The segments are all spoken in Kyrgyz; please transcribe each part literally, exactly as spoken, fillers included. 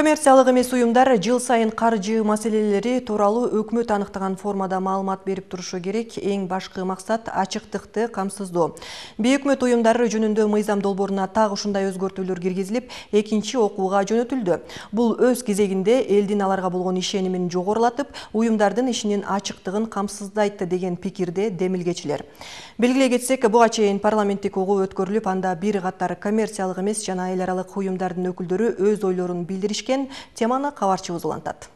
Коммерциялык эмес уюмдар жыл сайын каржы маселелери тууралуу өкмөт аныктаган формада маалымат берип турушу керек. Эң башкы максат ачыктыкты камсыздоо. Бейөкмөт уюмдары жөнүндө мыйзам долбооруна так ушундай өзгөртүүлөр киргизилип, экинчи окууга жөнөтүлдү. Бул өз кезегинде элдин аларга болгон ишенимин жогорулатып, уюмдардын ишинин ачыктыгын камсыздайт деген пикирде демилгечилер. Белгилей кетсек, буга чейин парламенттик угуу өткөрүлүп, анда бир катар коммерциялык эмес жана эл аралык уюмдардын өкүлдөрү өз ойлорун билдиришкен. Теманы кабарчыбыз улантат.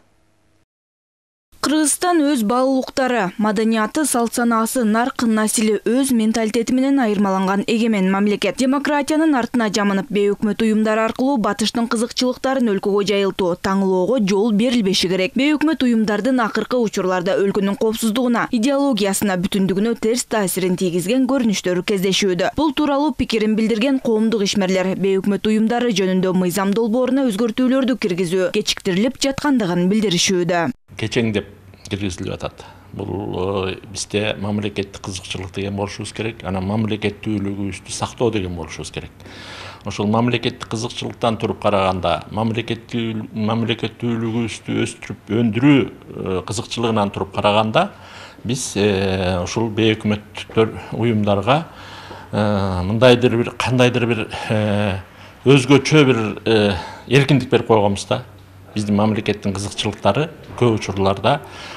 Кыргызстан өз баалуулуктары, маданияты, салт-санаасы, нарк, насили өз менталитети менен айырмаланган эгемен мамлекет. Демократиянын артына жамынып, бейөкмөт уюмдар аркылуу батыштын кызыкчылыктарын өлкөгө жайылтуу, таңлоого жол берилбеши керек. Бейөкмөт уюмдардын акыркы учурларда өлкөнүн коопсуздугуна, идеологиясына, бүтүндүгүнө терс таасирин тийгизген көрүнүштөрү кездешүүдө. Бул тууралуу пикирин билдирген коомдук ишмерлер бейөкмөт уюмдары жөнүндө мыйзам долбооруна өзгөртүүлөрдү киргизүү кечиктирилип жаткандыгын билдиришүүдө. Кечең деп киргизилип атат. Бул бизде мамлекеттик кызыкчылык деген болушубуз керек, анан мамлекеттүүлүгүбүздү сактоо деген болушубуз керек. Ошол мамлекеттик кызыкчылыктан туруп караганда, мамлекеттүү мамлекеттүүлүгүбүздү өстүрүп өндүрүү кызыкчылыгынан туруп караганда, биз ушул бейөкмөттөр уюмдарга мындайдыр бир кандайдыр бир өзгөчө бир эркиндик берип койгонбуз да. Биздин мамлекеттин кызыкчылыктары көп учурларда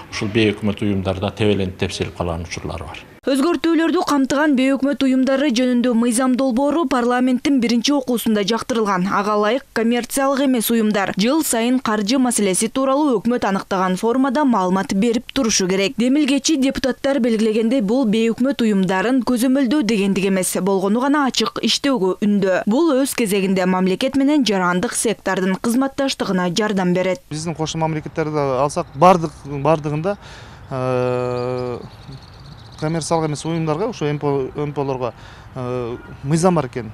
ушул бейөкмөт уюмдарда тебеленип тепселип калган учурлары бар. Өзгөртүүлөрдү камтыган бейөкмөт уюмдары жөнүндө мыйзам долбоору парламенттин биринчи окуусунда жактырылган. Ага ылайык коммерциялык эмес уюмдар жыл сайын каржы маселеси тууралуу өкмөт аныктаган формада маалымат берип турушу керек. Демилгечи депутаттар белгилегендей, бул бейөкмөт уюмдарын көзөмөлдөө дегендик эмес, болгону гана ачык иштөөгө үндөө. Бул өз кезегинде мамлекет менен жарандык сектордун кызматташтыгына жардам берет. Биздин кошмо мамлекеттерди алсак, бардык бардыгында коммерциялык эмес уюмдарга, ошо эм пэ олорго мыйзам бар экен.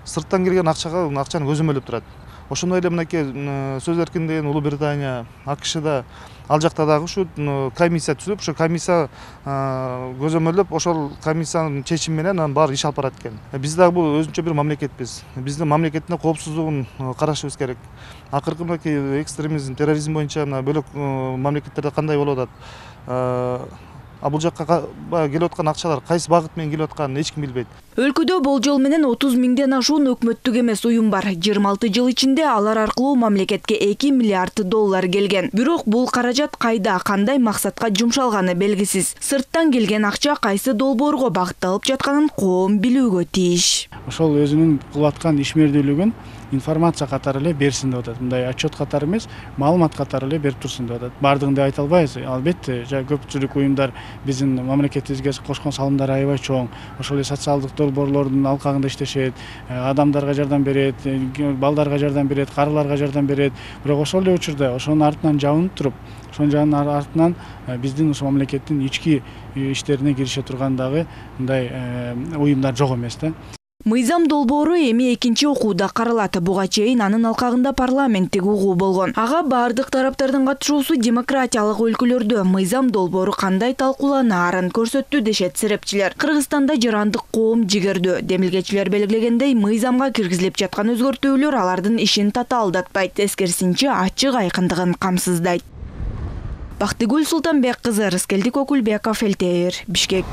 Сырттан келген акчага акчаны көзөмөлдөп турат. Ошондой эле мынакей сөз эркиндигин Улуу Британия, АКШда, ал жакта дагы ушу комиссия түзүп, ошо комиссия көзөмөлдөп, ошол комиссиянын чечими менен анан баары иш алып барат экен. Биз дагы бул өзүнчө бир мамлекетпиз. Биздин мамлекеттин коопсуздугун карашыбыз керек. Акыркы мынакей экстремизм, терроризм боюнча мына бөлөк мамлекеттерде кандай болуп атат? А бул жакка келип аткан акчалар кайсы багыт менен келип атканын эч ким билбейт. Өлкөдө болжол менен отуз миңден ашуун өкмөттүк эмес уюм бар. жыйырма алты жыл ичинде алар аркылуу мамлекетке эки миллиард доллар келген. Бирок бул каражат кайда, кандай максатка жумшалганы белгисиз. Сырттан келген акча кайсы долбоорго багытталып жатканын коом билүүгө тийиш. Ошол өзүнүн кылып аткан ишмердүүлүгүн информация катары эле берсин деп атат. Мындай отчет катары эмес, маалымат катары эле берип турсун деп атат. Бардыгын деп айта албайбыз. Албетте, көпчүлүк уюмдар биздин мамлекетибизге кошкон салымдары аябай чоң. Ошол эле социалдык долбоорлордун алкагында иштешет, адамдарга жардам берет, балдарга жардам берет, карыларга жардам берет. Бирок ошол эле учурда ошонун артынан жабынып туруп, ошонун артынан биздин ошо мамлекеттин ички иштерине кирише турган дагы мындай уюмдар жок эмес да. Мыйзам долбоору эми экинчи окууда каралат. Буга чейин анын алкагында парламенттик угуу болгон. Ага бардык тараптардын катышуусу демократиялык өлкөлөрдө мыйзам долбоору кандай талкууланаарын көрсөттү дешет серепчилер. Кыргызстанда жарандык коом жигердүү. Демилгечилер белгилегендей, мыйзамга киргизилип жаткан өзгөртүүлөр алардын ишин татаалдатпайт, тескерисинче ачык айкындыгын камсыздайт. Бактыгүл Султанбек кызы, Рыскелдик Окулбеков, Элтейр, Бишкек.